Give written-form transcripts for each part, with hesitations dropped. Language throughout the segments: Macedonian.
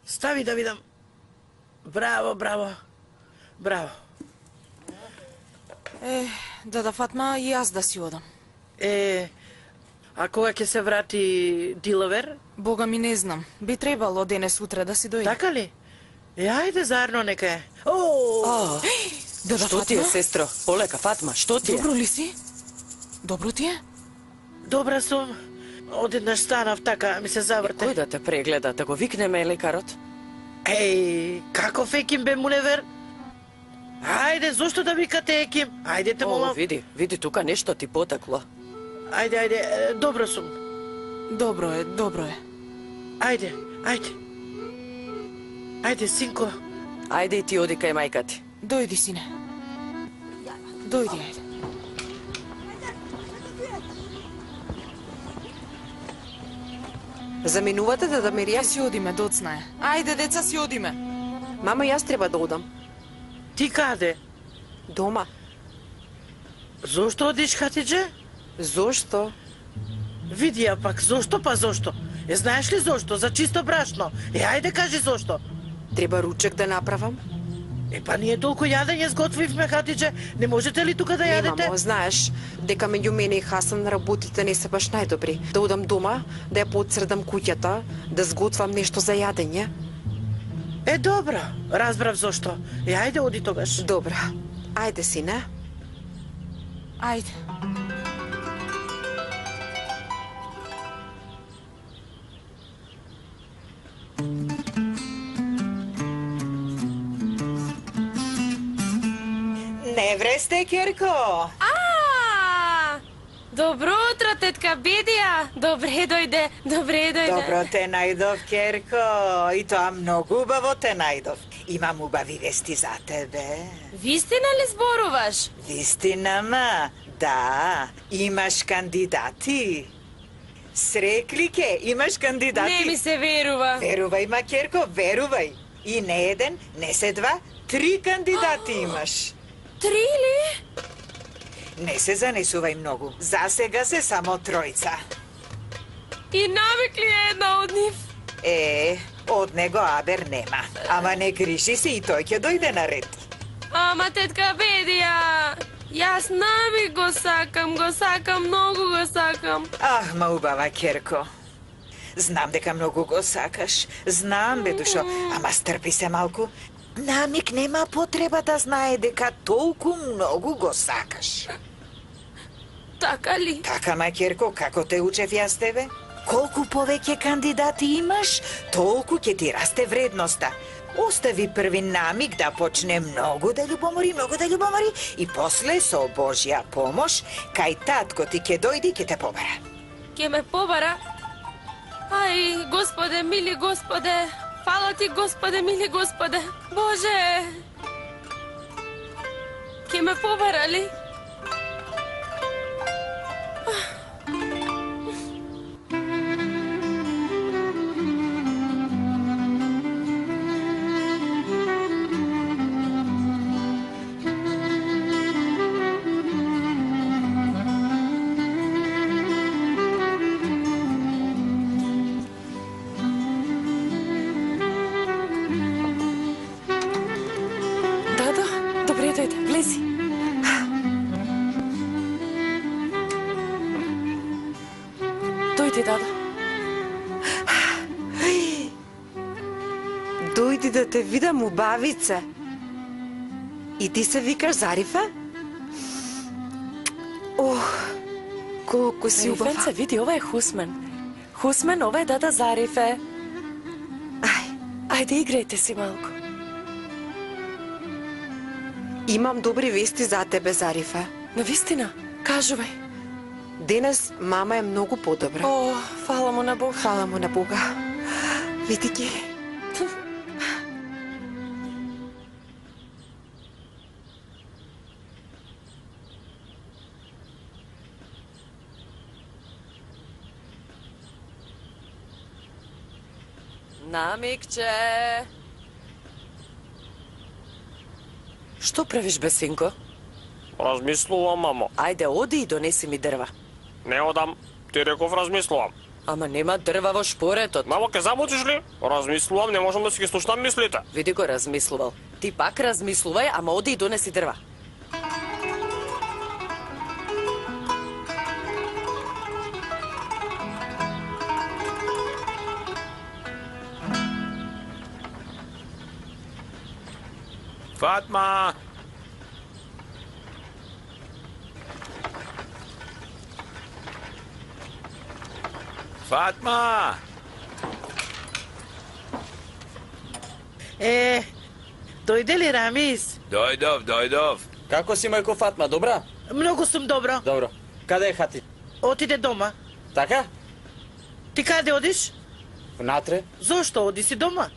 Стави да видам. Браво, браво. Браво. Дада Фатма, и јас да си одам. А кога ќе се врати Дилавер? Бога ми не знам. Би требало денес утре да си дојде. Така ли? Ајде заедно нека е. Дада Што ти е, Фатма? сестро? Полека, Фатма, што ти е? Добро ли си? Добро ти е? Добра сум. Одеднаш станав така, ми се заврте. Кој да те прегледа, да го викнеме лекарот? Каков еким бе Муневер? Ајде, зошто да викате еким? Ајде те молам. Види тука нешто ти потекло. Ајде, добро сум. Добро е, добро е. Ајде. Ајде, синко. Ајде и ти оди кај мајка ти. Дојди, сине. Дојди, ајде. Заминувате да Мерија? Си одиме, доцна е. Ајде, деца, си одиме. Мама, јас треба да одам. Ти каде? Дома. Зошто одиш, Хатидже? Зошто? Види ја пак, зошто па зошто? Знаеш ли зошто? За чисто брашно. Ајде кажи зошто. Треба ручек да направам? Па ние толку јадење сготвивме, Хатидже. Не можете ли тука да Не, јадете? мамо, знаеш, дека меѓу мене и Хасан работите не се баш најдобри. Да одам дома, да ја подсредам куќата, да сготвам нешто за јадење. Добро, разбрав зошто. Ајде, оди тогаш. Добро. Ајде, сине. Ајде. Не вресте, Керко. Добро утро, тетка Бедија. Добре дојде. Добро те најдов, Керко. И тоа многу убаво те најдов. Имам убави вести за тебе. Вистина ли зборуваш? Вистина, ма. Да, имаш кандидати. Срекли ке, имаш кандидати. Не ми се верува. Верувај, ма, Керко, верувај. И не еден, не се два, 3 кандидати имаш. 3 ли? Не се занесувај многу. За сега се само 3. И навик ли е една од нив? Од него Абер нема. Ама не грижи се и тој ќе дојде на ред. Ама тетка Бедија, јас навик го сакам, многу го сакам. Ма убава, Керко. Знам дека многу го сакаш. Знам, бе, душо. Ама стрпи се малку. Намик нема потреба да знае дека толку многу го сакаш. Така ли? Така, ма, Керко, како те учев јас тебе? Колку повеќе кандидати имаш, толку ќе ти расте вредноста. Остави први намик да почне многу да љубомори и после со Божја помош, кај татко ти ќе дојди и ќе те побара. Ке ме побара? Ај, Господе, мили Господе, фала ти, Господе, мили Господе. Боже! Ке ме побара ли? Добре дојде, влези. Дојди, Дада. Дојди да те видам, убавице. И ти се викаш Зарифе? Колку си убава. Зарифенце, види, ова е Хусмен. Хусмен, ова е Дада Зарифе. Ајде, играјте си малку. Имам добри вести за тебе, Зарифе. Навистина, кажувај. Денес мама е многу подобра. Фала му на Бог. Фала му на Бога. Види ги. Намикче. Што правиш, бе, синко? Размислувам, мамо. Ајде, оди и донеси ми дрва. Не одам. Ти реков размислувам. Ама нема дрва во шпоретот. Мамо, ке замолчиш ли? Размислувам, не можам да си ги слушнам мислите. Види го размислувал. Ти пак размислувај, ама оди и донеси дрва. Фатма! Фатма! Дојде ли Рамис? Дојдов. Како си, мајко Фатма, добра? Многу сум добро. Добро. Каде е Хати? Отиде дома. Така? Ти каде одиш? Внатре? Зошто оди си дома?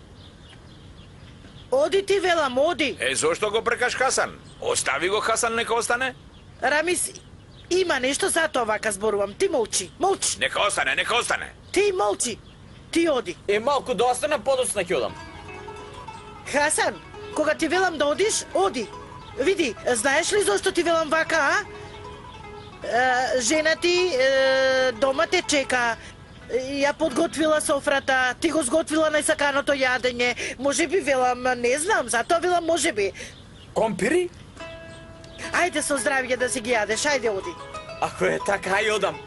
Оди ти, велам, оди. Зошто го прекаш Хасан? Остави го Хасан, нека остане. Рамис, има нешто, затоа вака зборувам. Ти молчи, молчи. Нека остане. Ти молчи. Ти оди. Малку да остане, подоцна ќе одам. Хасан, кога ти велам да одиш, оди. Види, знаеш ли зошто ти велам вака, а? Жена ти дома те чека. Ја подготвила софрата, ти го сготвила најсаканото јадење. Може би велам, не знам, затоа велам може би. Компири? Ајде со здравје да си ги јадеш, ајде оди. Ако е така, ај одам.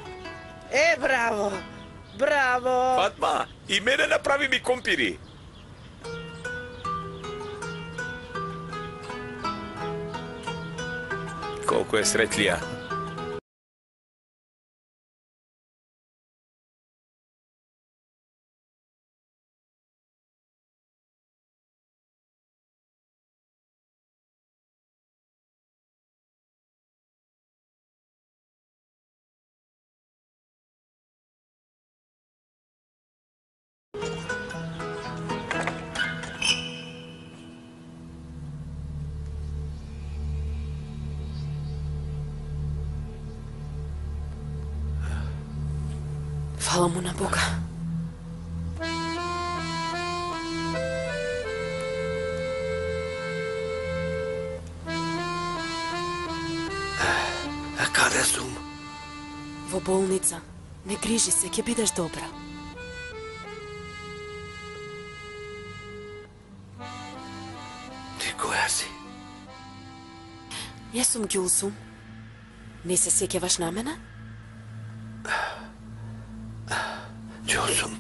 Браво, браво. Фатма, и мене направи ми компири. Колку е сретлија. Фала му на Бога. А каде сум? Во болница. Не грижи се, ќе бидеш добра. Ти која си? Јас сум Ѓулсум. Не се сеќаваш на мене? Ѓулсум.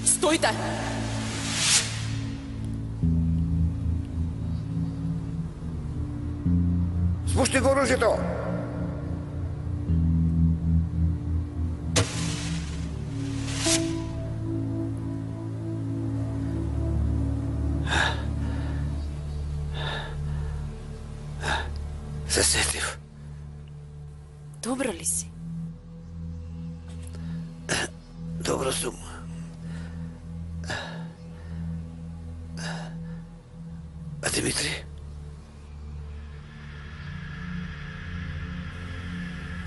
Стојте! Спушти го оружјето! Се сетив. Добро ли си? Добро сум. А Димитри?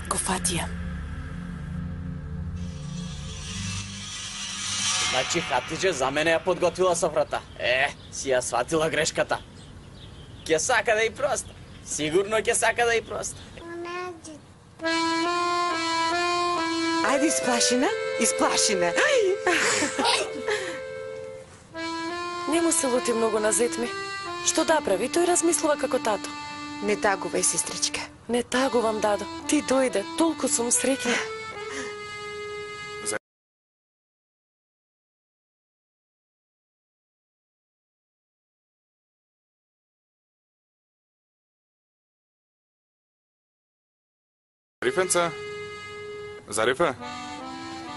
Го фатија. Значи Хатиџе за мене ја подготвила софрата. Си ја сватила грешката. Ќе сака да и проста. Сигурно ќе сака да и проста. Ајде, исплашина. Не му се лути многу на зетми. Што да прави, тој размислува како тато. Не тагувај, сестричка. Не тагувам, дадо. Ти дојде, толку сум среќна. Зарифенца? Зарифе?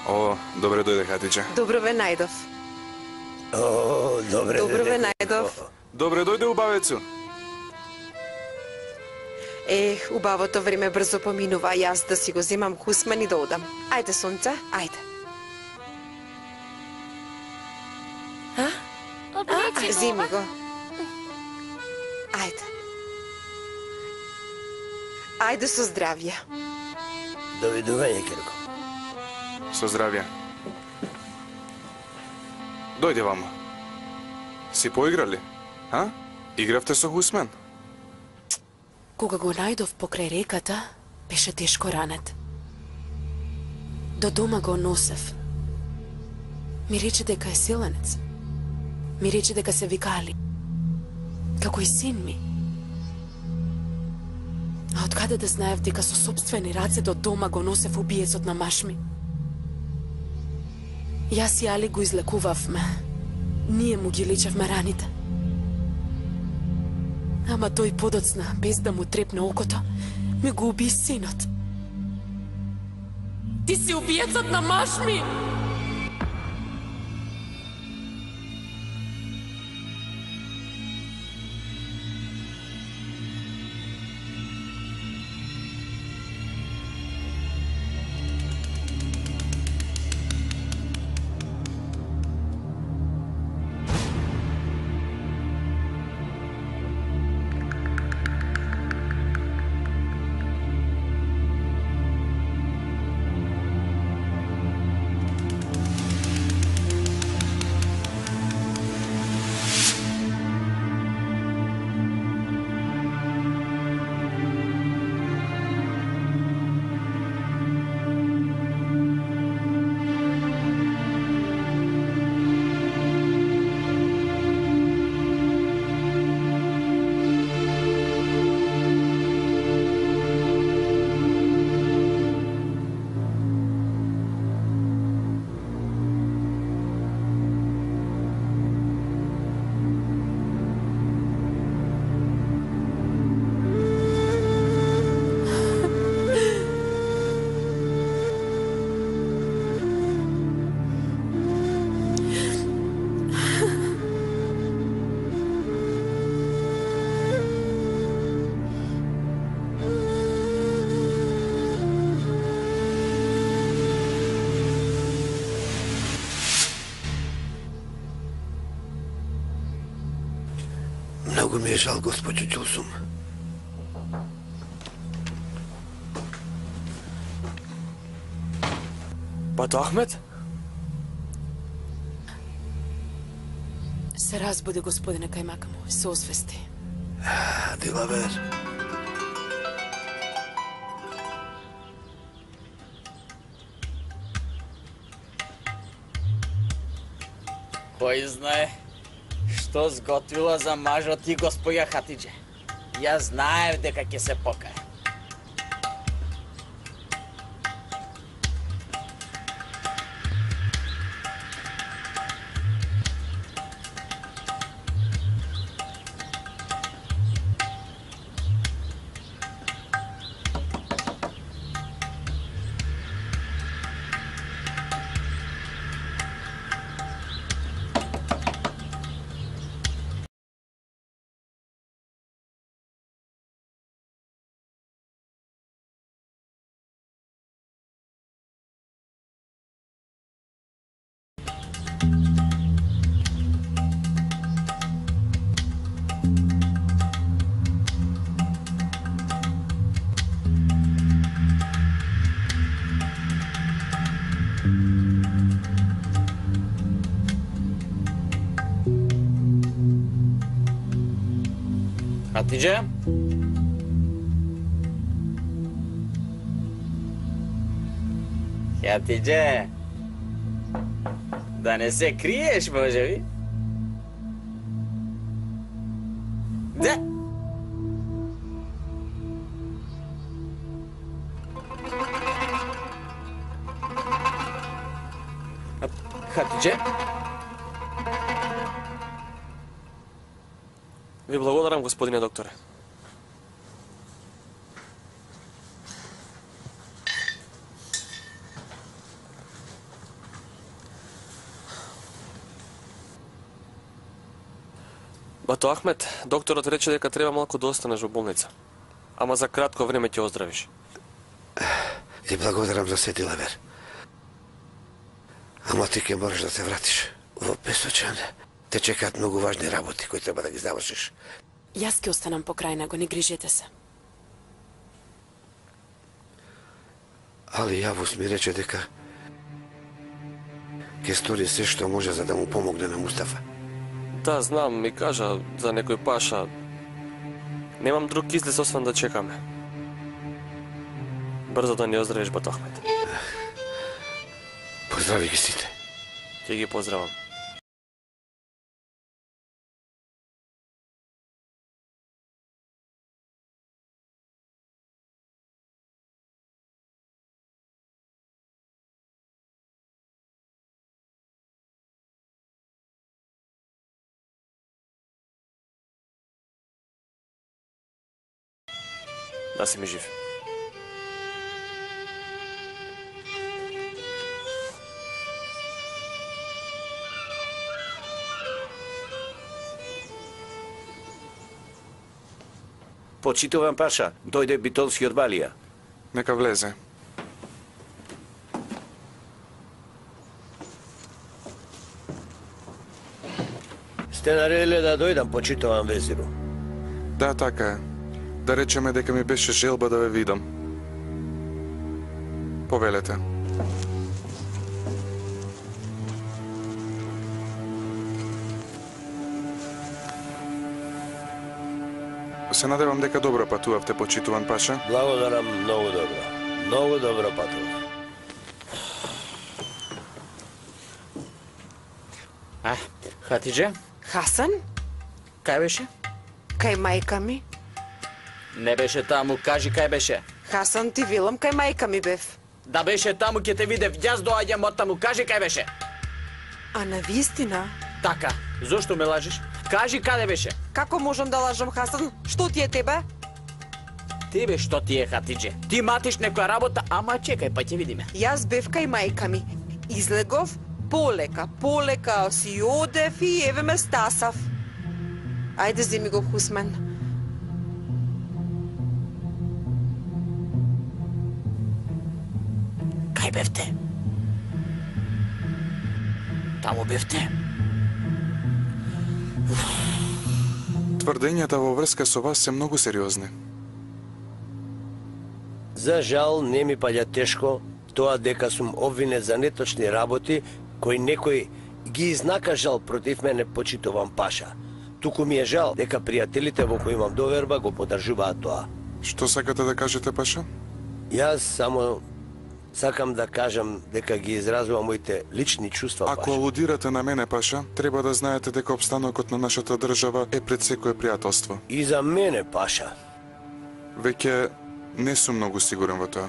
О, добре дојде Хатиџе. Добро ве најдов. О, добре. Добро ве најдов. Добре дојде убавецу. Убавото време брзо поминува, а јас да си го земам Хусман и да одам. Ајде, сонце, ајде. Земи го. Ајде. Ајде со здравје. Довидување, Керко. Со здравје. Дојде вамо. Си поиграли? А? Игравте со Хусмен? Кога го најдов покрај реката, беше тешко ранет. До дома го носев. Ми рече дека е селенец. Ми рече дека се вика Али. Како и син ми. А откаде да знаев дека со собствени раце до дома го носев убиецот на маш ми? Јас и Али го излекувавме. Ние му ги лечевме раните. Ама тој подоцна, без да му трепне окото, ми го уби синот. Ти си убиецот на маш ми! Многу ми е жал, госпоđo Ѓулсум. Бато Ахмет? Се разбуди, господине Кајмака мој, се освести. Дилавер. Кој знае што сготвила за мажот ти госпоја Хатиџе. Јас знаев дека ќе се покае. Хатиџе? Хатиџе? Да не се криеш, може би? Да. Хатиџе? Ви благодарам, господине докторе. Бато Ахмет, докторот рече дека треба малку да останеш во болница. Ама за кратко време ќе оздравиш. Ти благодарам за се, Дилавер. Ама ти ќе мораш да се вратиш во Песочан. Те чекаат многу важни работи кои треба да ги завршиш. Јас ќе останам покрај него, не грижете се. Али Јавус ми рече дека ќе стори се што може за да му помогне на Мустафа. Да, знам, ми кажа за некој паша. Немам друг излез освен да чекаме. Брзо да ни оздравиш, Бато Ахмет. Поздрави ги сите. Ти ги поздравам. Да си ми жив. Почитувам паша, дојде битолски од Балија. Нека влезе. Сте наредиле да дојдам, почитувам везиру. Да, така е. Да речеме дека ми беше желба да ве видам. Повелете. Се надевам дека добро патувавте, почитуван паша. Благодарам, многу добро. Многу добро патував. Хатидже, Хасан? кај беше? Кај мајка ми? Не беше таму, кажи кај беше. Хасан, ти велам кај мајка ми бев. Да беше таму, ќе те видев, јас доаѓам од таму, кажи кај беше. А на вистина? Така, зошто ме лажиш? Кажи каде беше. Како можам да лажам, Хасан? Што ти е тебе? Тебе што ти е, Хатидже? Ти матиш некоја работа, ама чекај, па ќе видиме. Јас бев кај мајка ми. Излегов, полека си одев и еве ме стасав. Ајде, земи го Хусмен. Кај бевте? Таму бевте? Тврдењата во врска со вас се многу сериозни. За жал, не ми паѓа тешко тоа дека сум обвинет за неточни работи кои некој ги изнакажал против мене, почитувам паша. Туку ми е жал дека пријателите во кои имам доверба го поддржуваат тоа. Што сакате да кажете, паша? Јас само сакам да кажам дека ги изразувам моите лични чувства, Ако паша. алудирате на мене, паша, треба да знаете дека обстанокот на нашата држава е пред секое пријателство. И за мене, паша. Веќе не сум многу сигурен во тоа.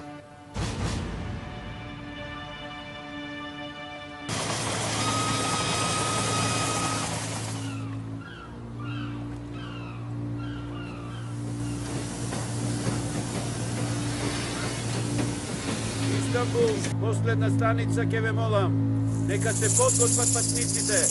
Истанбул, последна станица, ќе ве молам. Нека се подготват патниците.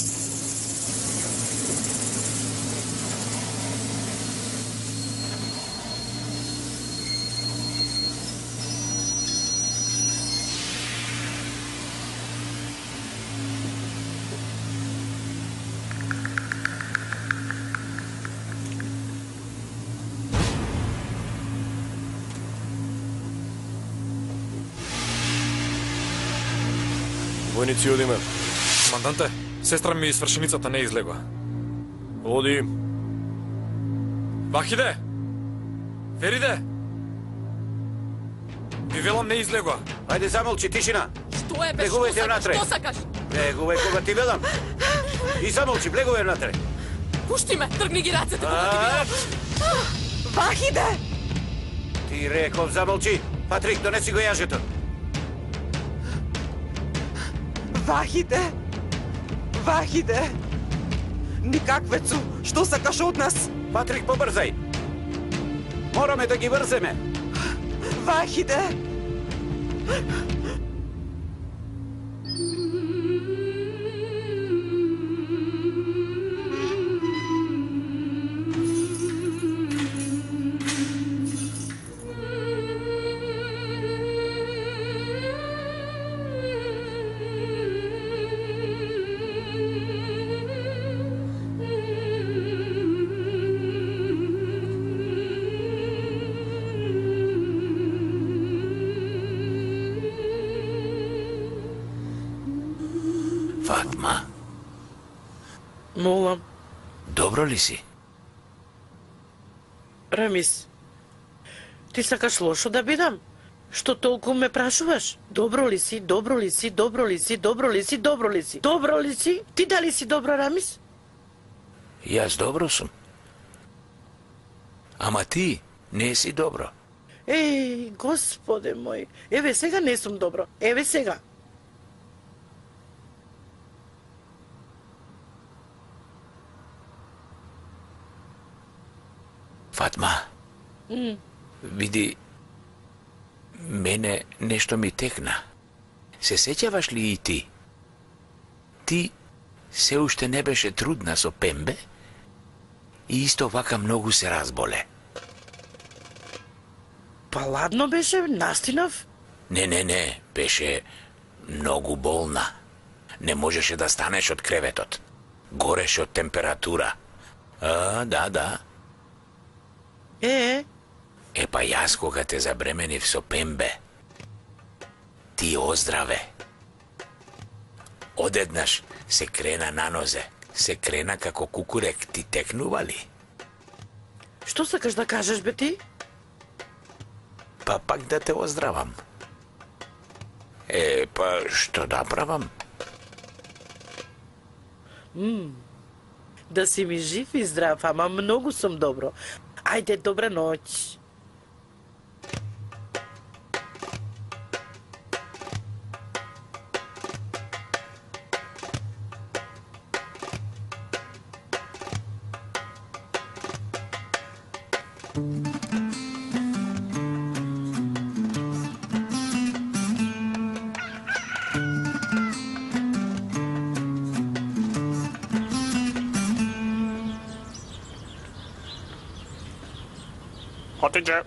Војници, одиме. Команданте, сестра ми свршеницата не излегла. Оди. Вахиде! Фериде! Ви велам не излегла. Ајде, замолчи, тишина. Што е, бе, Влегувајте што внатре. сакаш, што сакаш? Влегувај кога ти велам. И замолчи, влегувај внатре. Пушти ме, тргни ги рацете кога ти велам. Вахиде! Ти реков, замолчи. Патрик, донеси го јажето. Вахиде! Вахиде! Никаквецу, што сакаш од нас? Патрик, побрзај. Мораме да ги врземе. Вахиде! Фатма, Молам, добро ли си? Рамис, ти сакаш лошо да бидам? Што толку ме прашуваш? Добро ли си, добро ли си, добро ли си, добро ли си, добро ли си? Добро ли си? Ти дали си добро, Рамис? Јас добро сум. Ама ти не си добро. Еј, господе мој, еве сега не сум добро, еве сега. Фатма, види, мене нешто ми текна. Се сеќаваш ли и ти? Ти се уште не беше трудна со Пембе и исто вака многу се разболе. Па ладно беше, настинав? Не, беше многу болна. Не можеше да станеш од креветот. Гореше од температура. Да. Па јас кога те забременив со Пембе, ти оздраве. Одеднаш се крена на нозе, се крена како кукурек, ти текнували. Што сакаш да кажеш, бе ти? Па пак да те оздравам. Па што да правам? Да си ми жив и здрав, ама многу сум добро. Ајде, добра ноќ. Хотиđe.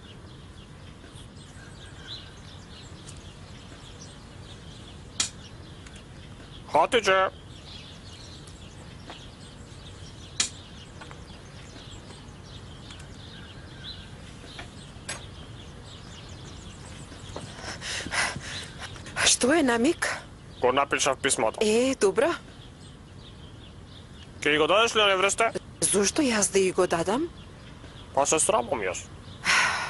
Хотиđe. Што е, Намик? Го напишав писмото. Добро. Ке го дадеш ли на невресте? Зошто јас да и го дадам? Па се срамам јас.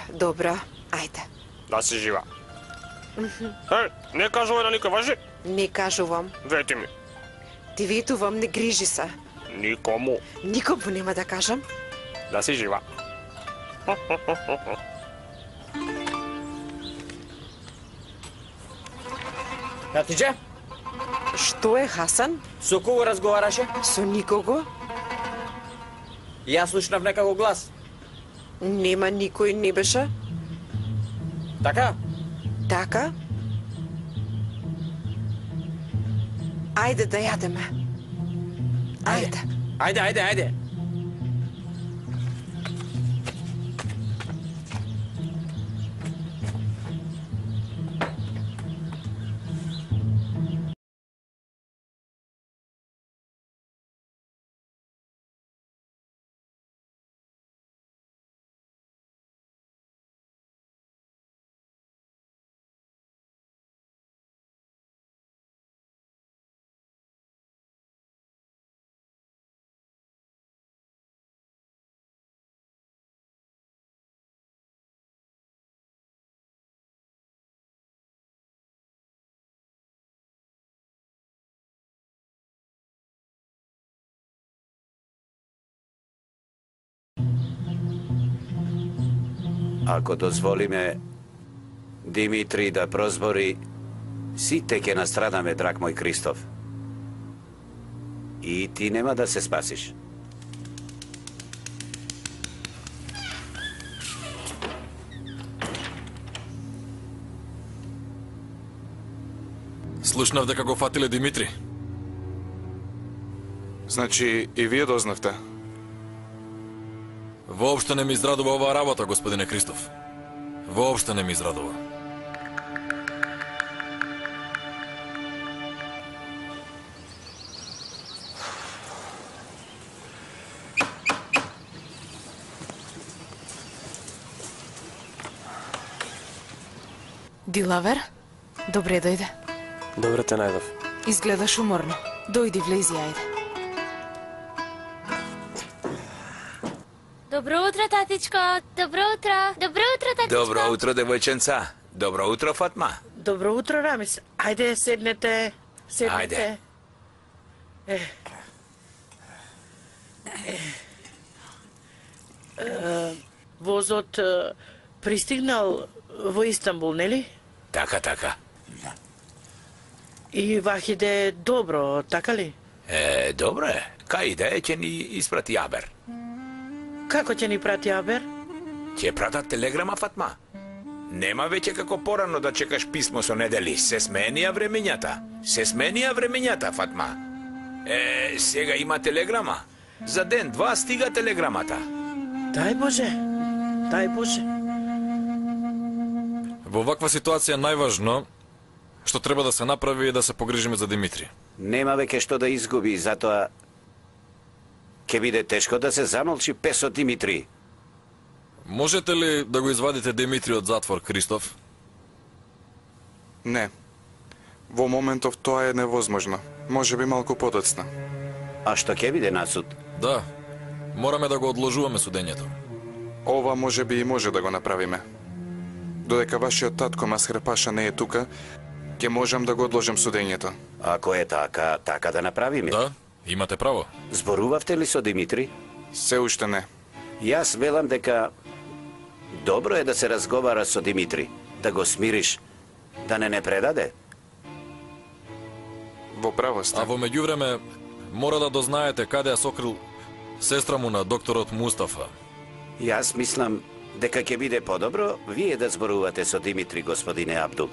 Добро, ајде. Да си жива. Не кажувај на никој, важи? Не кажувам. Вети ми. Ти ветувам, не грижи се. Никому. Никому нема да кажам. Да си жива. Хатиđe? Што е, Хасан? Со кого разговараше? Со никого. Јас слушнав некако глас. Нема никој, не беше. Така? Така? Ајде да јадеме. Ајде. Ајде. Ако дозволиме Димитри да прозбори, сите ќе настрадаме, драг мој Кристоф. И ти нема да се спасиш. Слушнав дека го фатиле Димитри. Значи и вие дознавте? Воопшто не ми израдува оваа работа, господине Кристоф. Воопшто не ми израдува. Дилавер, добре дојде. Добре те најдов. Изгледаш уморно. Дојди, влези, ајде. Добро утро, татичко. Добро утро. Добро утро, татичко. Добро утро, девојченца. Добро утро, Фатма. Добро утро, Рамис. Ајде, седнете. Ајде. Возот пристигнал во Истанбул, нели? Така. И Вахиде добро, така ли? Добро е. Кај иде, ќе ни испрати Абер. Како ќе ни прати Абер? Ќе пратат телеграма, Фатма. Нема веќе како порано да чекаш писмо со недели. Се сменија времењата, Фатма. Сега има телеграма. За ден, два стига телеграмата. Дај Боже. Во ваква ситуација најважно што треба да се направи е да се погрижиме за Димитри. Нема веќе што да изгуби, затоа ќе биде тешко да се замолчи песот Димитри. Можете ли да го извадите Димитри од затвор, Кристоф? Не. Во моментов тоа е невозможно. Може би малку подоцна. А што ќе биде на суд? Да. Мораме да го одложуваме судењето. Ова може би и може да го направиме. Додека вашиот татко Масхер Паша не е тука, ќе можам да го одложам судењето. Ако е така да направиме. Да, имате право. Зборувавте ли со Димитри? Се уште не. Јас велам дека добро е да се разговара со Димитри, да го смириш, да не предаде. Во право сте. А во меѓувреме, мора да дознаете каде ја сокрил сестра му на докторот Мустафа. Јас мислам дека ќе биде подобро вие да зборувате со Димитри, господине Абдул.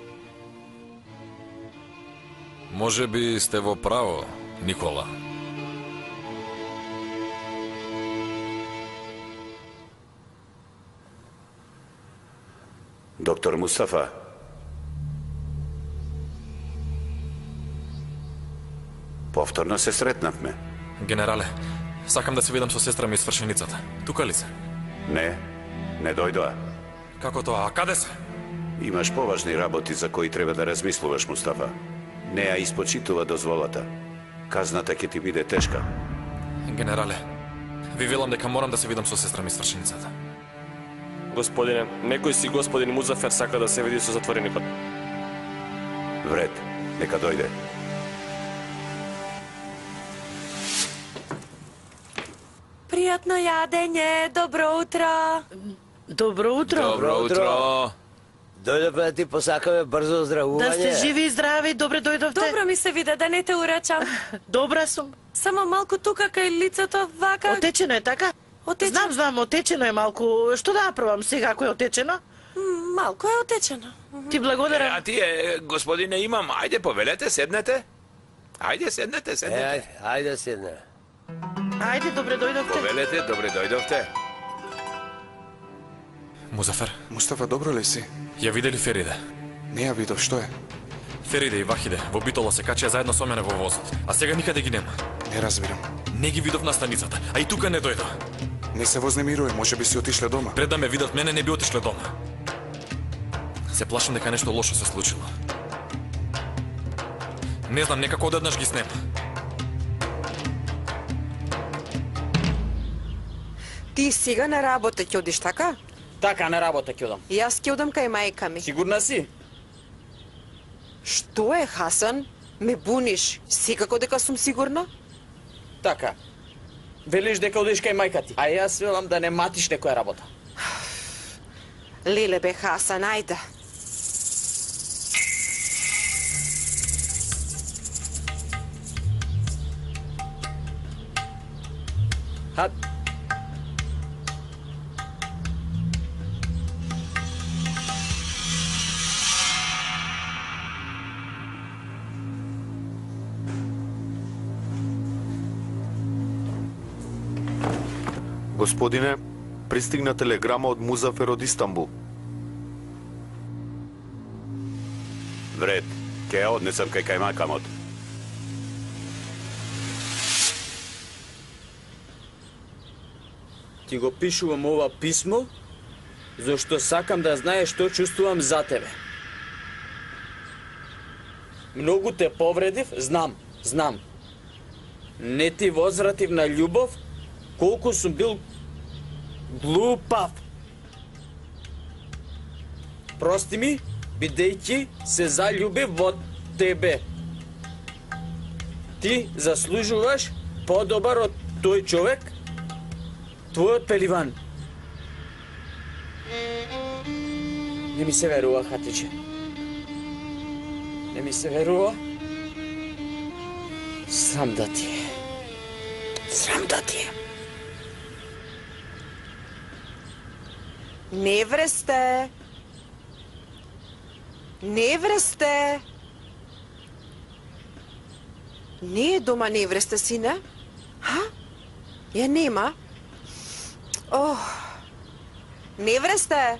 Може би сте во право, Никола. Доктор Мустафа. Повторно се сретнавме. Генерале, сакам да се видам со сестра ми свршеницата. Тука ли се? Не дојдоа. Како тоа? А каде се? Имаш поважни работи за кои треба да размислуваш, Мустафа. Не ја испочитува дозволата. Казната ќе ти биде тешка. Генерале, ви велам дека морам да се видам со сестра ми свршеницата. Господине, некој си господин Музафер сака да се види со затвореникот. Вред, нека дојде. Пријатно јадење, добро утро. Добро утро. Добро утро. Дојдовме да ти посакаме брзо оздравување. Да сте живи и здрави, добре дојдовте. Добро ми се виде, да не те урачам. Добра сум. Само малку тука кај лицето вака. Отечено е, така? Отечено. Знам, отечено е малку. Што да направам сега ако е отечено? Малку е отечено. Ти благодарам. А тие, господине, имам. Ајде, повелете, седнете. Ајде, седнете. Ајде, седне. Ајде, добре дојдовте. Повелете, добре дојдовте. Музафер. Мустафа, добро ли си? Ја видели Фериде? Не ја видов, што е? Фериде и Вахиде во Битола се качија заедно со мене во возот, а сега никаде ги нема. Не разбирам. Не ги видов на станицата, а и тука не дојдо. Не се вознемируј, може би си отишле дома. Пред да ме видат мене, не би отишле дома. Се плашам дека нешто лошо се случило. Не знам, некако одеднаш ги снема. Ти сега на работа ќе одиш, така? Така, на работа ќе одам. Јас ќе одам кај мајка ми. Сигурна си? Што е, Хасан? Ме буниш. Секако дека сум сигурна? Така. Велиш дека одиш кај мајка ти, а јас велам да не матиш некоја работа. Леле бе, Хасан, ајде. Хат. Господине, пристигна телеграма од Музафер од Истанбул. Вред, ќе ја однесам кај кајмакамот. Ти го пишувам ова писмо, зашто сакам да знаеш што чувствувам за тебе. Многу те повредив, знам. Не ти возвратив на љубов, колку сум бил глупав. Прости ми, бидејќи се заљуби во тебе. Ти заслужуваш подобар од тој човек, твојот пеливан. Не ми се верува, Хатиче. Не ми се верува. Срам да ти е. Срам да ти е. Невресте. Невресте. Не е дома невресте, сине? Ха? Ја нема? Ох. Невресте.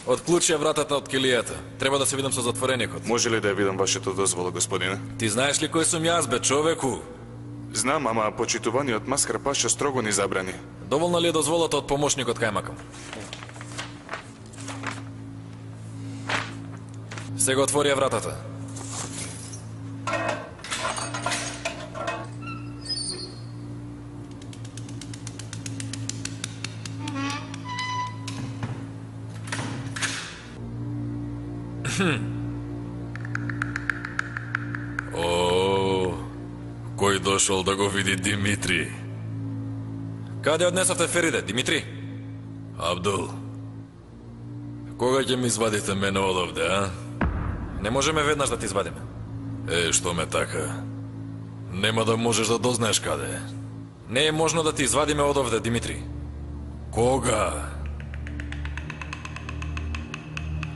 Отклучија вратата од килијата. Треба да се видам со затвореникот. Може ли да ја видам вашето дозвола, господине? Ти знаеш ли кој сум јас, бе, човеку? Знам, ама почитуваниот маскар паша строго ни забрани. Доволна ли е дозволата од помошникот кајмакам? Сега отворија вратата. О, кој дошол да го види Димитри? Каде однесовте Фериде, Димитри? Абдул, кога ќе ми извадите мене одовде, а? Не можеме веднаш да ти извадиме. Што ме така? Нема да можеш да дознаеш каде. Не е можно да ти извадиме одовде, Димитри. Кога?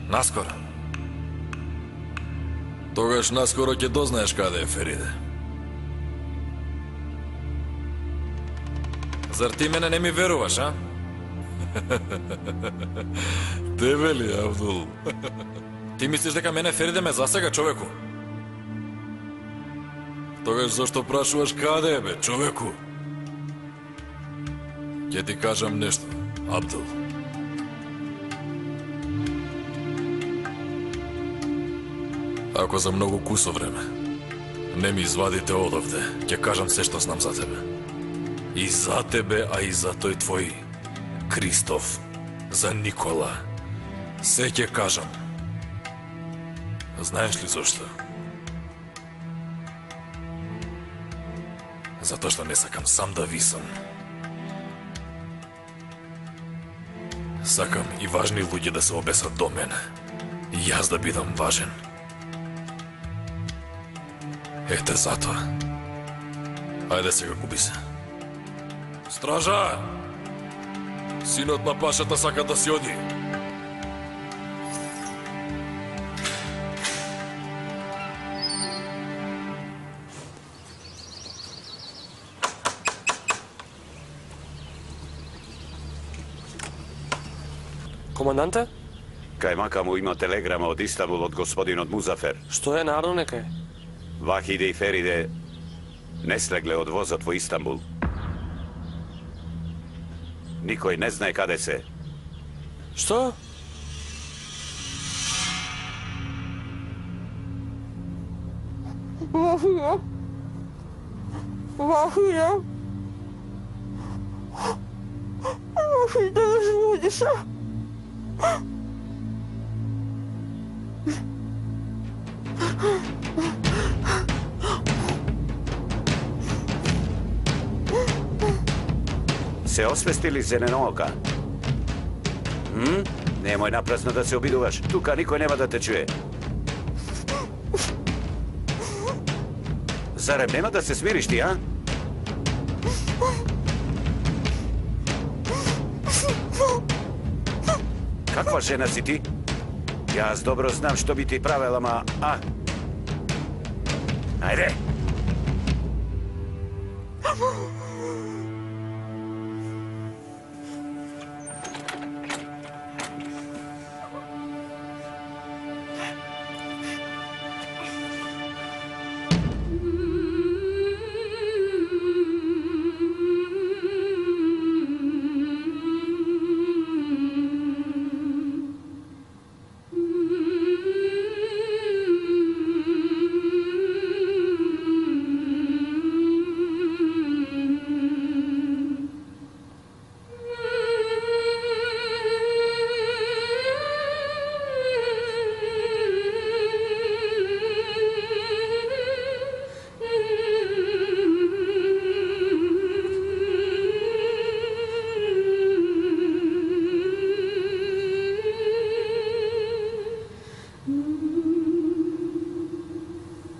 Наскоро. Тогаш наскоро ќе дознаеш каде е Фериде. Зар ти мене не ми веруваш, а? Тебе ли, Абдул? Ти мислиш дека мене Фериде ме засега, човеку? Тогаш зашто прашуваш каде е, бе, човеку? Ќе ти кажам нешто, Абдул. Ако за многу кусо време не ми извадите одовде, ќе кажам се што знам за тебе. И за тебе, а и за тој твој Кристоф, за Никола. Се ќе кажам. Знаеш ли зошто? Затоа што не сакам сам да висам. Сакам и важни луѓе да се обесат до мене. И јас да бидам важен. Ете затоа. Ајде сега, губи се. Стража! Синот на пашата сака да си оди. Команданте? Кајмака му има телеграма од Истанбул од господинот Музафер. Што е народно некај? Вахиде и Фериде не слегле од возот во Истанбул. Никој не знае каде се. Што? Вахиде. Вахиде. Вахиде, разбуди се. Се освестили зеленоока? Немој напразно да се обидуваш. Тука никој нема да те чуе. Зарем нема да се смириш ти, а? Каква жена си ти? Јас добро знам што би ти правела, ама... Ајде!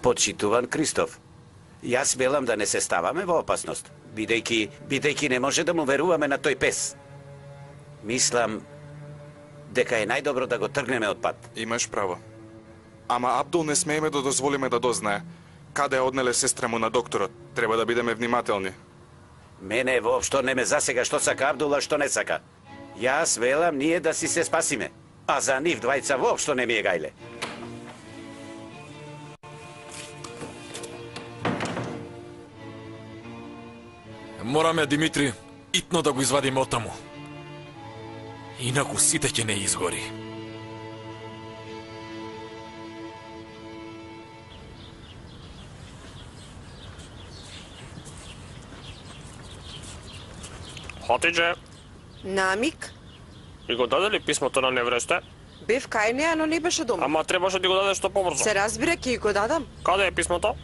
Почитуван Кристоф, јас велам да не се ставаме во опасност, бидејќи не може да му веруваме на тој пес. Мислам дека е најдобро да го тргнеме од пат. Имаш право. Ама Абдул не смееме да дозволиме да дознае каде однеле сестра му на докторот. Треба да бидеме внимателни. Мене воопшто не ме засега што сака Абдул, а што не сака. Јас велам ние да си се спасиме, а за нив двајца воопшто не ми е гајле. Мораме, Димитри, итно да го извадиме оттаму. Инаку сите ќе не изгори. Хатидже, Намик, и го даде ли писмото на невресте? бев кај неа, но не беше дома. Ама требаше да го дадеш што побрзо. Се разбира, ќе го дадам. Каде е писмото?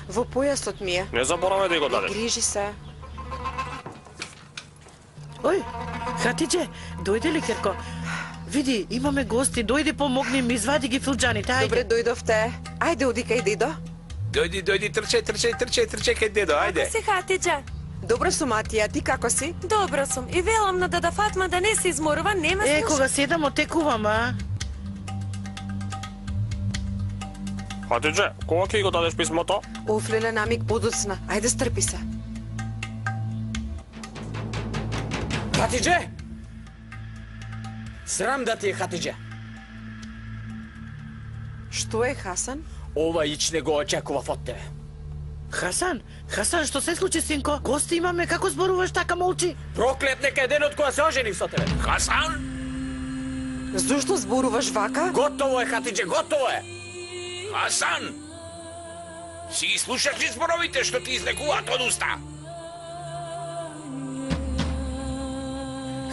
Во појасот ми е. Не заборавај да го Не дадеш. грижи се. Ој, Хатидже, дојде ли, Керко? Види, имаме гости, дојди помогни ми, извади ги филџаните, ајде. Добре, дојдовте. Ајде, оди кај дедо. Дојди, трчај кај дедо, ајде. Се Хатидже. Добро сум, Атија, ти како си? Добро сум. И велам на дада Фатма да не се изморува, нема Е, слуш. кога седам, отекувам, а? Хатидже, кога ќе го дадеш писмото? Офлеле, Намик, подоцна. Ајде, стрпи се. Хатидже! Срам да ти е, Хатидже. Што е, Хасан? Ова ич не го очекував од тебе. Хасан, што се случи, синко? Гости имаме, како зборуваш така молчи? Проклет нека е денот кога се оженив со тебе. Хасан? Зошто зборуваш вака? Готово е, Хатидже, готово е. Хасан! Си ги слушаш ли зборовите што ти излекуваат од уста?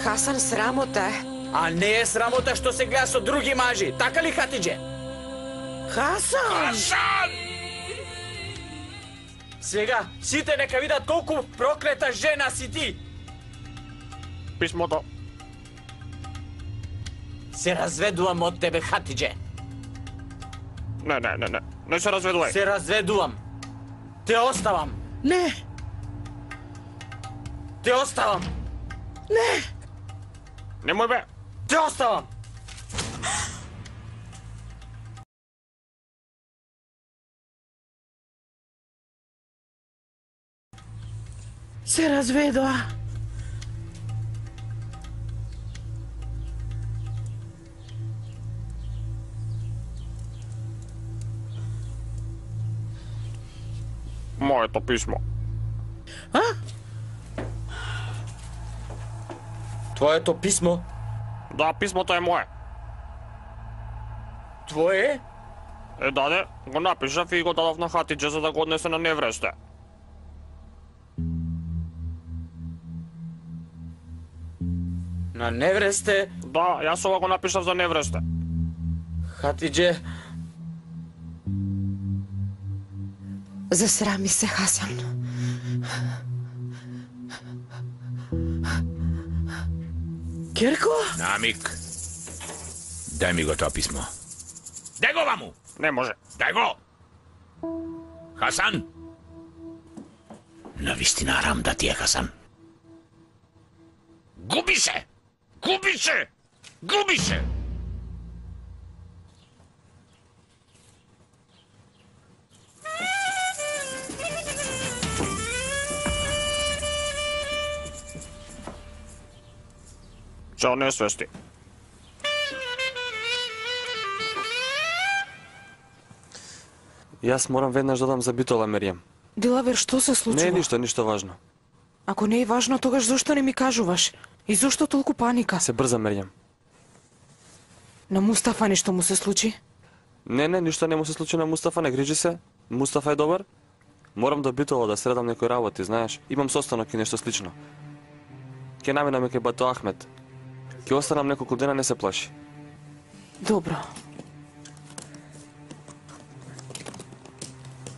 Хасан, срамота е. А не е срамота што се гледа со други мажи, така ли, Хатидже? Хасан! Хасан! Сега, сите нека видат колку проклета жена си ти. Писмото. Се разведувам од тебе, Хатидже. Не се разведувај. Се разведувам. Те оставам. Не! Те оставам. Не! Немој бе. Те оставам. Се разведоа. Моето писмо. А? Твоето писмо? Да, писмото е мое. Твое? Даде, го напишав и го дадов на Хатидже за да го однесе на невресте. На невресте? Да, јас ова го напишав за невресте. Хатидже... Засрами се, Хасан. Керко? Намик, дај ми го тоа писмо. Дај го ваму! Не може. Дај го! Хасан! Навистина арам да ти е, Хасан. Губи се! Губи се! Губи се! Чао, не свести. Јас морам веднаш да дам за битола, Меријам. Дилавер, што се случува? Не е ништо важно. Ако не е важно, тогаш зошто не ми кажуваш? И зошто толку паника? Се брза, Меријам. На Мустафа нешто му се случи? Не, ништо не му се случи на Мустафа, не грижи се. Мустафа е добар. Морам до битола да средам некои работи, знаеш. Имам состанок и нешто слично. Ке наминаме кај Бато Ахмет. Ке останам неколку дена, не се плаши. Добро.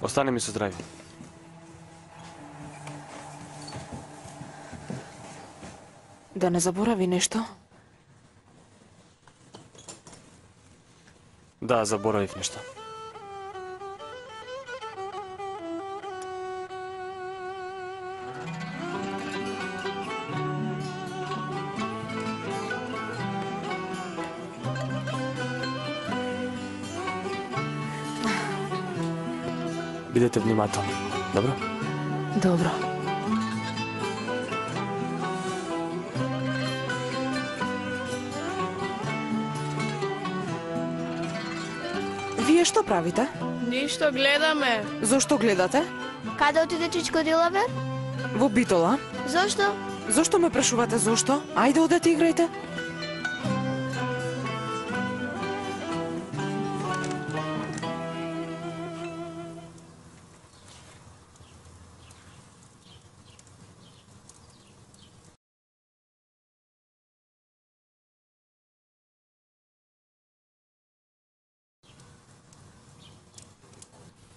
Остани ми со здрави. Да не заборави нешто? Да, заборавив нешто. Бидете внимателни, добро? Добро. Вие што правите? Ништо гледаме. Зошто гледате? Каде отиде Чичко Дилавер? Во Битола. Зошто? Зошто ме прашувате зошто? Ајде одете играјте.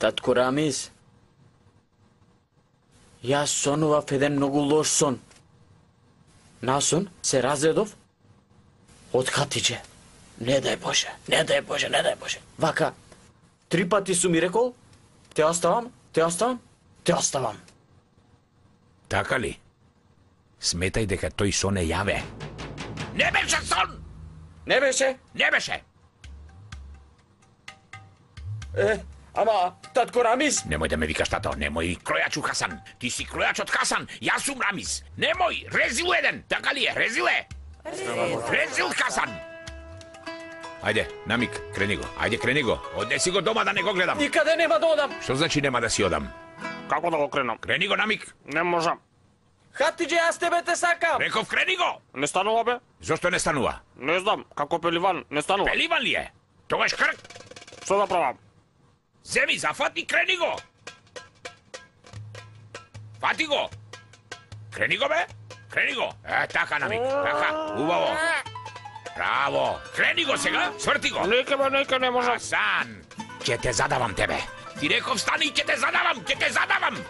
Татко Рамиз, јас сонував еден многу лош сон. Насон се разредов од Хатиџе. Не дај Боже, не дај Боже, не дај Боже. Вака, 3 пати су ми рекол, те оставам, те оставам, те оставам. Така ли? Сметај дека тој сон е јаве. Не беше сон! Не беше? Не беше! Ама, татко Рамиз... Немој да ме викаш тато, немој кројачу Хасан. Ти си кројачот Хасан, јас сум Рамиз. Немој, резил еден, така ли е, резиле? Резил Хасан. Ајде, Намик, крени го, ајде крени го. Однеси го дома да не го гледам. Никаде нема да одам. Што значи нема да си одам? Како да го кренам? Крени го, Намик. Не можам. Хатиџе, јас тебе те сакам. Реков, крени го. Не станува, бе? Зошто не станува? Не знам, како пеливан, не станува. Пеливан ли е? Тогаш крк. Што да правам? Земи, зафати, крени го! Фати го! Крени го, бе! Крени го! Така, Намик, така, убаво! Браво! Крени го сега, сврти го! Нека, бе, нека, не можам. Хасан! Ќе те задавам тебе! Ти реков, стани, ќе те задавам, ќе те задавам!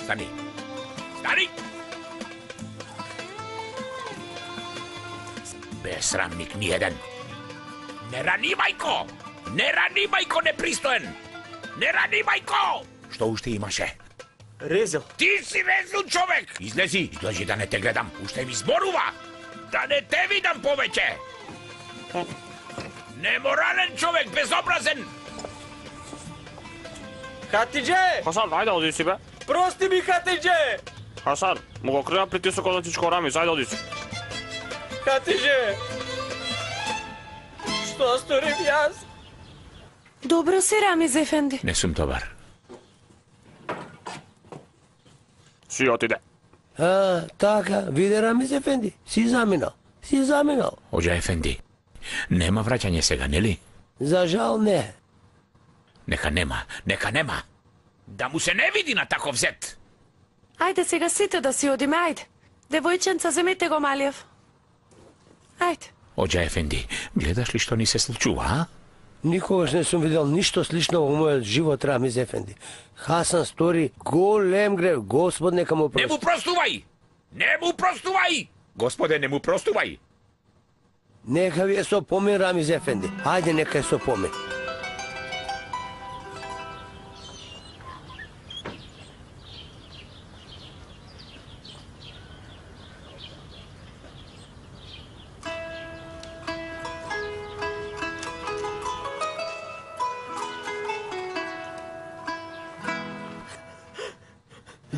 Stani! Stani! Besramnik nijedan. Ne rani, majko! Ne rani, majko, nepristojen! Ne rani, majko! Što ušte imаше? Резил. Ти си резил човек! Излези, излежи да не те гледам. Уште ми зборува! Да не те видам повеќе! Неморален човек, безобразен! Хатиџе! Хасан, ајде оди си, бе. Прости ми, Хатиџе! Хасан, му го крена притисокот на Чичко Рамиз, ајде оди си. Хатиџе! Што сторим јас? Добро си, Рамиз ефенди. Не сум добар. Си отиде. Така, виде Рамиз ефенди, си заминал. Оџа ефенди, нема враќање сега, нели? За жал не. Нека нема. Да му се не види на таков зет. Ајде сега сите да си одиме, ајде. Девојченца, земете го малиев. Ајде. Оџа ефенди, гледаш ли што ни се случува, а? Никогаш не сум видел ништо слично во мојот живот, Рамиз ефенди. Хасан стори голем грев, Господ нека му прости. Не му простувај! Не му простувај! Господе, не му простувај! Нека ви е сопомен, Рамиз ефенди. Ајде, нека е сопомен.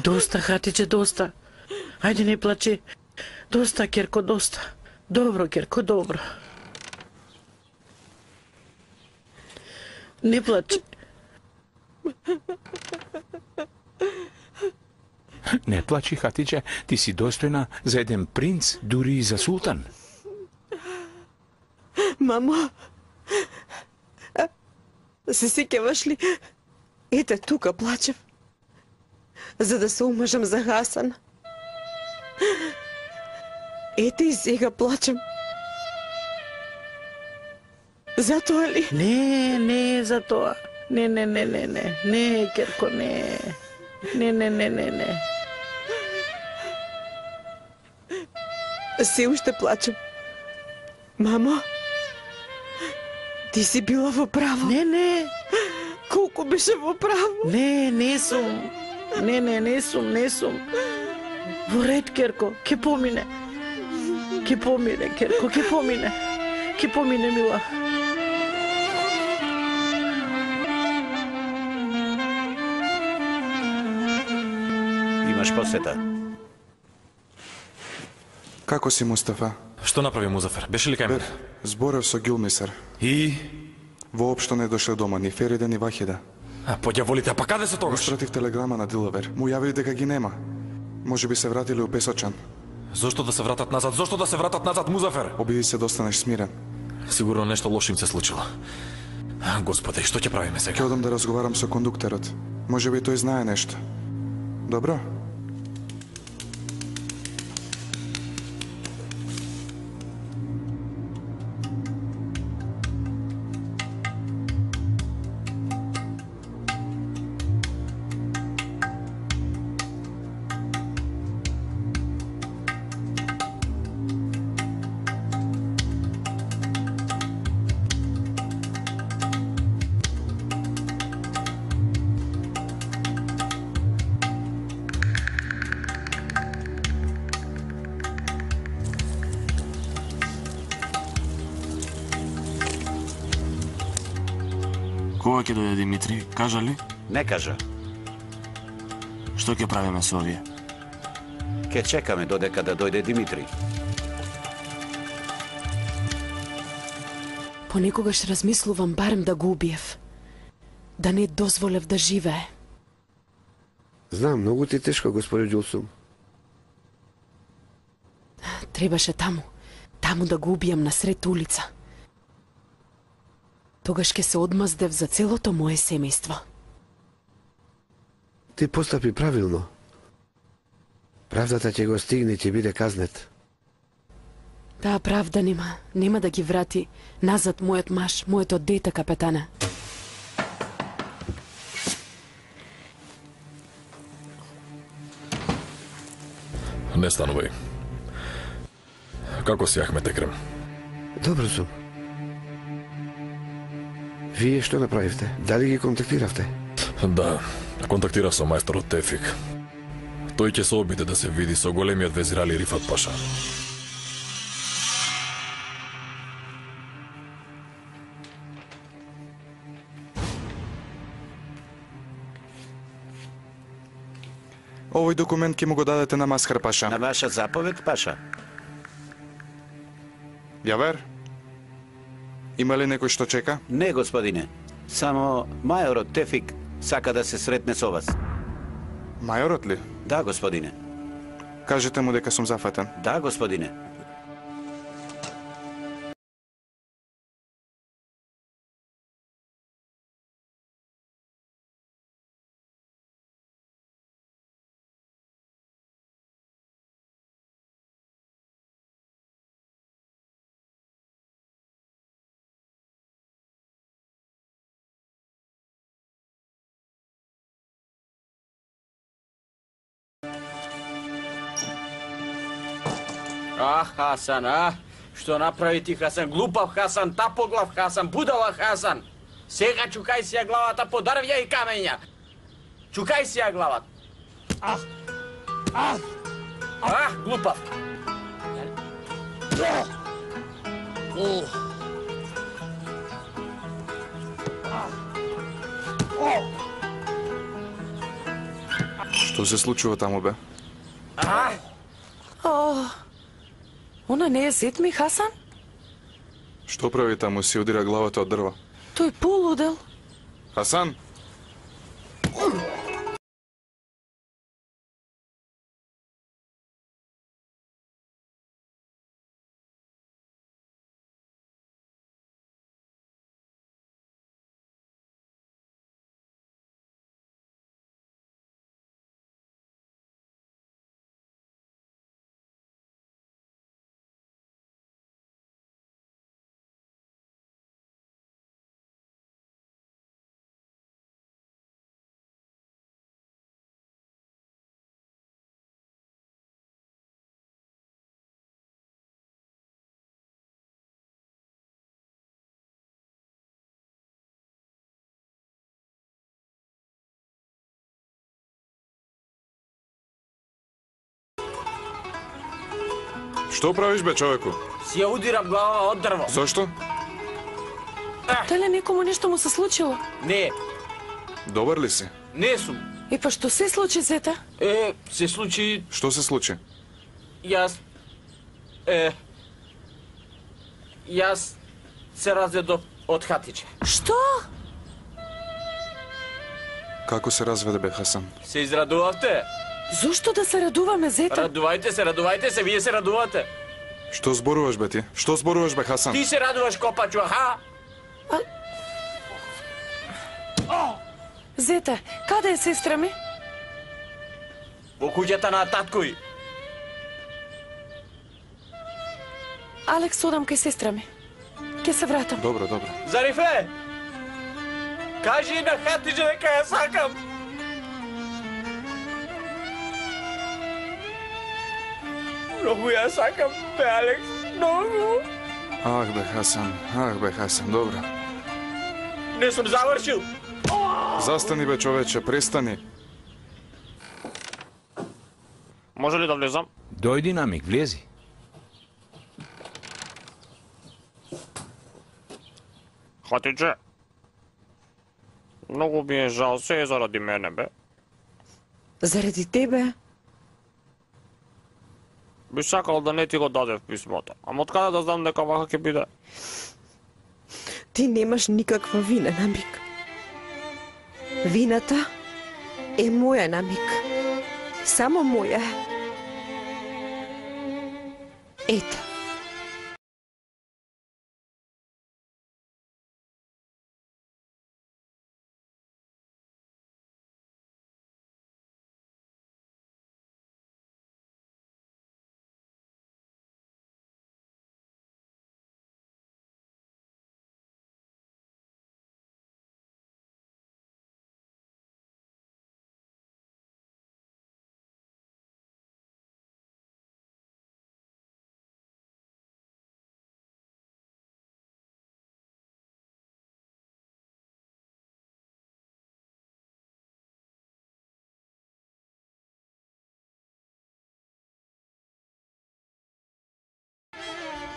Доста, Хатиџе, доста. Ајде, не плачи. Доста, Керко, доста. Добро, Керко, добро. Не плачи. Не плачи, Хатиџе, ти си достојна за еден принц, дури и за султан. Мамо, се сеќаваш ли? Ете, тука плачев. За да се омажам за Хасан. Ете и сега плачем. Затоа ли? Не за тоа. Не, Керко, не. Не. Се уште плачем. Мамо, ти си била во право. Не. Колку беше во право? Не сум. Не сум. Во ред, Керко, ќе помине. Керко, ќе помине, мила. Имаш посета. Како си, Мустафа? Што направи Музафер? Беше ли кај мене? Зборев со Гюлмисар. И? Воопшто не дошле дома, ни Фериде, ни Вахида. По ѓаволите, па каде се тогаш? Испратив телеграма на Дилавер. Му јавили дека ги нема. Може би се вратили у Песочан. Зошто да се вратат назад? Зошто да се вратат назад, Музафер? Обиди се да останеш смирен. Сигурно нешто лошо им се случило. Господе, што ќе правиме сега? Ќе одам да разговарам со кондуктерот. Може би тој знае нешто. Добро? Кога ќе дојде Димитри? Кажа ли? Не кажа. Што ќе правиме со овие? Ке чекаме додека да дојде Димитри. Понекогаш размислувам барем да го убиев. Да не дозволев да живее. Знам, многу ти тешко, господи Џулсум. Требаше таму да го убијам насред улица. Тогаш ќе се одмаздев за целото мое семејство. Ти постапи правилно. Правдата ќе го стигне и ќе биде казнет. Таа правда нема да ги врати назад мојот маж, моето дете, капетане. Не станувај. Како си, Ахмет Екрем? Добро сум. Вие што направивте? Дали ги контактиравте? Да, контактирав со мајсторот Тефик. Тој ќе се обиде да се види со големиот везир Али Рифат Паша. Овој документ ќе му го дадете на Масхар Паша. На ваша заповед, Паша? Јавер? Има ли некој што чека? Не, господине. Само мајорот Тефик сака да се сретне со вас. Мајорот ли? Да, господине. Кажете му дека сум зафатен. Да, господине. Хасан, Што направи ти, Хасан? Глупав Хасан, тапоглав Хасан, будала Хасан! Сега чукај си ја главата по дрвја и камења! Чукај си ја главата! Глупав! Што се случува таму, бе? Она не е зет ми, Хасан? Што прави таму, си удира главата од дрво? Тој полудел. Хасан? Што правиш бе, човеку? Си ја удирам глава од дрво. Зошто? Дали некому нешто му се случило? Не, Добар ли си? не сум. И па што се случи, Зета? Се случи... Што се случи? Јас... Јас се разведов од Хатиче. Што? Како се разведе бе, Хасан? Се израдувавте? Зошто да се радуваме, Зета? Радувајте се, вие се радувате. Што зборуваш бе ти? Што зборуваш бе, Хасан? Ти се радуваш, копачу, аха? Зета, каде е сестра ми? Во куќата на таткој. Алекс, одам кај сестра ми. Ке се вратам. Добро. Зарифе! Кажи на Хатиче дека ја сакам. Многу ја сакам, бе, Алекс, многу. Ах бе, Хасан, добро. Не сум завршил. Застани бе, човече, престани. Може ли да влезам? Дојди, намик, влези. Хатиче. Многу ми е жал, се е заради мене, бе. Заради тебе? Би сакал да не ти го дадев писмото. Ама откаде да знам дека вака ќе биде? Ти немаш никаква вина, Намик. Вината е моја, Намик. Само моја. Ето.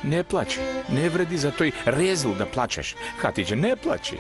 Не плачи, не вреди за тој резил да плачеш. Хатиче, не плачи.